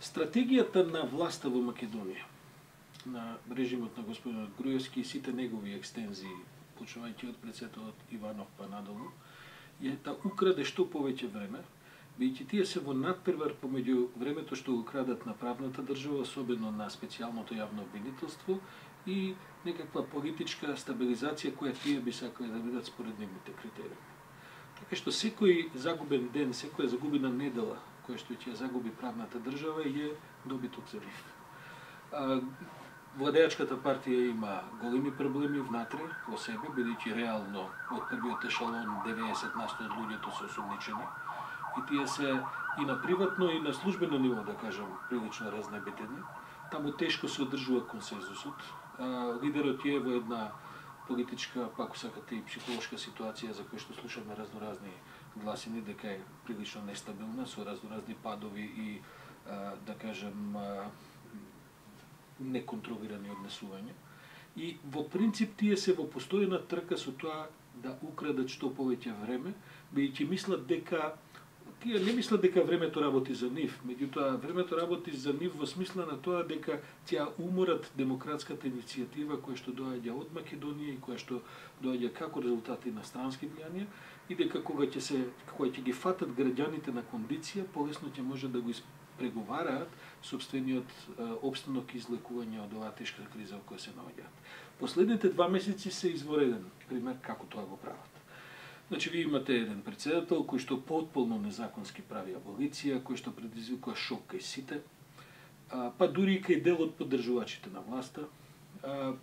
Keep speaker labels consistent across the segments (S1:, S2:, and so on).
S1: Стратегијата на власта во Македонија, на режимот на господинот Груевски и сите негови екстензии, почнувајќи од председателот Иванов па надолу, е да украде што повеќе време, бидејќи тие се во надпревар помеѓу времето што го крадат на правната држава, особено на специјалното јавно обвинителство и некаква политичка стабилизација која тие би сакале да бидат според нивните критериуми. Така што секој загубен ден, секоја загубена недела која што ќе загуби правната држава е добиток за нив. Владеачката партија има големи проблеми внатре во себе, бидејќи реално од првиот ешалон 90% од луѓето се осумничени и тие се и на приватно и на службено ниво, да кажам, прилично разнебитени. Таму тешко се одржува консензусот. Лидерот е во една политичка, пак сакате и психолошка ситуација за која што слушаме разноразни гласини дека е прилично нестабилна, со разноразни падови и, да кажем, неконтролирани однесувања. И во принцип тие се во постојна трка со тоа да украдат што повеќе време, бидејќи мислат дека тие не мислат дека времето работи за нив, меѓутоа времето работи за нив во смисла на тоа дека ќе уморат демократската иницијатива која што доаѓа од Македонија и која што доаѓа како резултати на странски влијанија и дека кога ќе ги фатат граѓаните на кондиција, полесно ќе може да го преговараат сопствениот опстанок и излекување од оваа тешка криза во која се наоѓаат. Последните 2 месеци се извореден пример како тоа го прават. Значи, ви имате еден председател кој што потполно незаконски прави аболиција, кој што предизвикува шок кај сите, па дури и кај дел од поддржувачите на власта.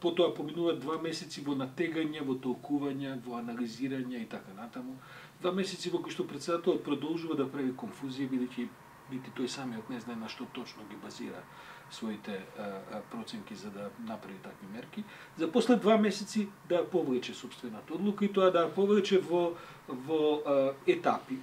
S1: Потоа поминуваат 2 месеци во натегање, во толкување, во анализирање и така натаму. 2 месеци во кои што председателот продолжува да прави конфузија, бидејќи нити тој самиот не знае на што точно ги базира своите проценки за да направи такви мерки, за после 2 месеци да повлече собствената одлука и тоа да повлече во етапи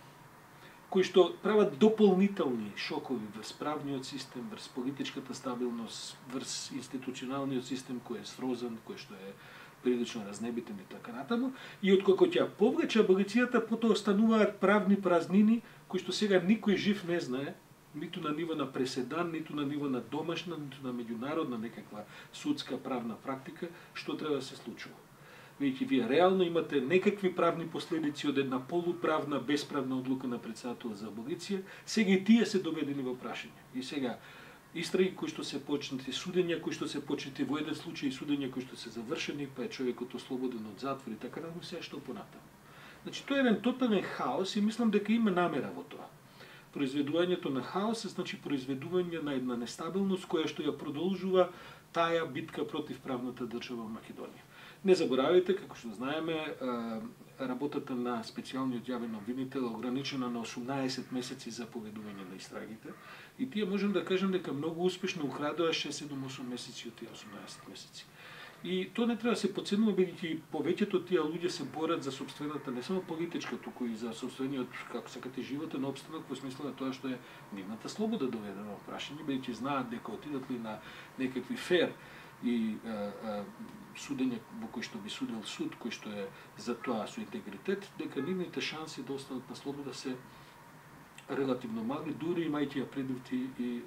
S1: кои што прават дополнителни шокови врз правниот систем, врз политичката стабилност, врз институционалниот систем кој е срозан, кој што е прилично разнебитен и така натаму, и откако ќе повлече аболицијата, потоа остануваат правни празнини кои што сега никој жив не знае, ниту на ниво на преседан, ниту на ниво на домашна, ниту на меѓународна некаква судска правна практика, што треба да се случува. Видите, вие реално имате некакви правни последици од една полуправна, бесправна одлука на председател за аболиција, сега и тие се доведени во прашање. И сега истраги кои што се почнати, судења кои што се почнати во еден случај, судења кои што се завршени, па е човекот ослободен од затвор и така натаму, се што понатаму. Значи, тоа е еден тотален хаос и мислам дека има намера во тоа. Произведувањето на хаос е значи произведување на една нестабилност која што ја продолжува таа битка против правната држава во Македонија. Не заборавајте, како што знаеме, работата на специјалниот јавен обвинител е ограничена на 18 месеци за поведување на истрагите и тие можем да кажем дека многу успешно украдоа 6-7-8 месеци од тие 18 месеци. И тоа не треба да се подценува, бидејќи повеќето тие луѓе се борат за собствената, не само политичка, туку и за собствениот, како сакате, животен опстанок во смисла на тоа што е нивната слобода доведена во прашање, бидејќи знаат дека отидат ли на некакви фер и судење во кој што би судел суд, кој што е за тоа со интегритет, дека нивните шанси да останат на слобода се релативно мали, дури имајќи ја предвид и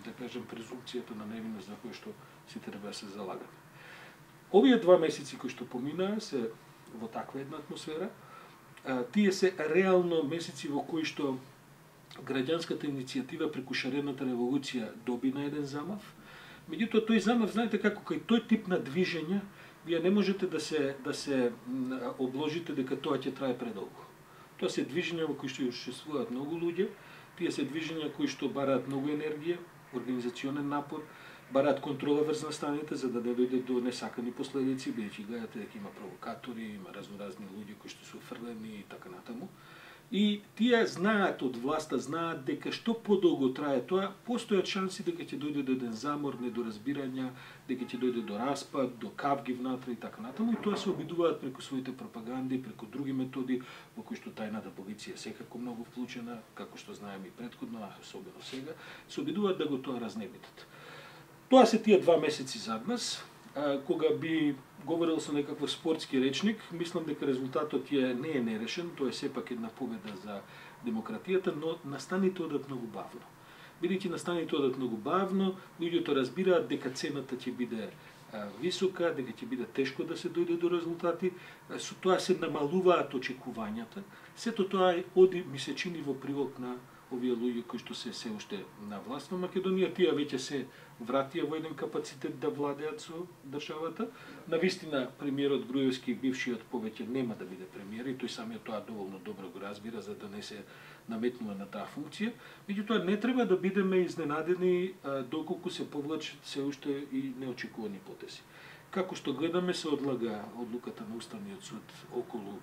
S1: да кажем презумпцијата на невиност за кој што сите треба да се залагаме. Овие 2 месеци кои што поминаа се во таква една атмосфера, тие се реално месеци во кои што граѓанската иницијатива преку шарената револуција доби на еден замав. Меѓутоа тој замав, знаете како, кај тој тип на движење, вие не можете да се обложите дека тоа ќе трае предолго. Тоа се движења во кои што учествуваат многу луѓе, тие се движења кои што бараат многу енергија, организационен напор, бараат контрола врз настаните за да не дојде до несакани последици, бидејќи гледате дека има провокатори, има разноразни луѓе кои што се офрлени и така натаму. И тие знаат од власта, знаат дека што подолго трае тоа, постојат шанси дека ќе дојде до еден замор, недоразбирања, дека ќе дојде до распад, до кавги внатре и така натаму, и тоа се обидуваат преку своите пропаганди, преку други методи во кои што тајната полиција секако многу вклучена, како што знаеме и претходно, а особено сега, се обидуваат да го тоа разнебитат. Тоа се тие 2 месеци зад нас. Кога би говорил со некаков спортски речник, мислам дека резултатот не е нерешен, тоа е сепак една победа за демократијата, но настаните одат многу бавно. бидејќи настаните одат многу бавно, луѓето разбираат дека цената ќе биде висока, дека ќе биде тешко да се дојде до резултати, со тоа се намалуваат очекувањата. Сето тоа оди, ми се чини, во прилог на овие луѓе кои што се уште на власт во Македонија, тие веќе се вратија во еден капацитет да владеат со државата. Навистина, премиерот Груевски, бившиот, повеќе нема да биде премиер и тој самиот тоа доволно добро го разбира за да не се наметнува на таа функција. Меѓутоа не треба да бидеме изненадени доколку се повлачат се уште и неочекувани потези. Како што гледаме, се одлага одлуката на Уставниот суд околу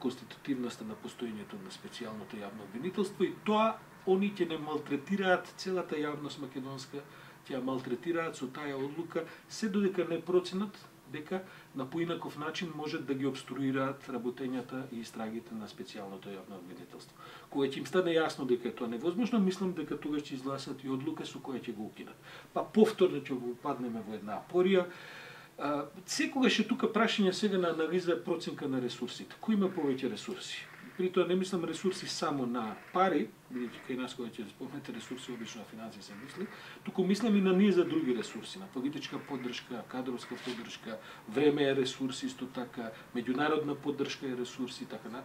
S1: конститутивноста на постоењето на специјалното јавно обвинителство и тоа они ќе не малтретираат целата јавност македонска, ќе ја малтретираат со таа одлука, се додека не проценат дека на поинаков начин можат да ги обструираат работењата и истрагите на специјалното јавно обвинителство. Кога ќе им стане јасно дека е тоа невозможно, мислам дека тогаш ќе изгласат и одлука со која ќе го укинат. Па повторно ќе го упаднеме во една апорија. Секогаш е тука прашање сега на анализа проценка на ресурсите. Кој има повеќе ресурси? При тоа не мислам ресурси само на пари, бидејќи кај нас кога ќе спомнете ресурси, обично на финансии се мисли, туку мислам и на ние за други ресурси, на политичка поддршка, кадровска поддршка, време е ресурс исто така, меѓународна поддршка е ресурс и така на.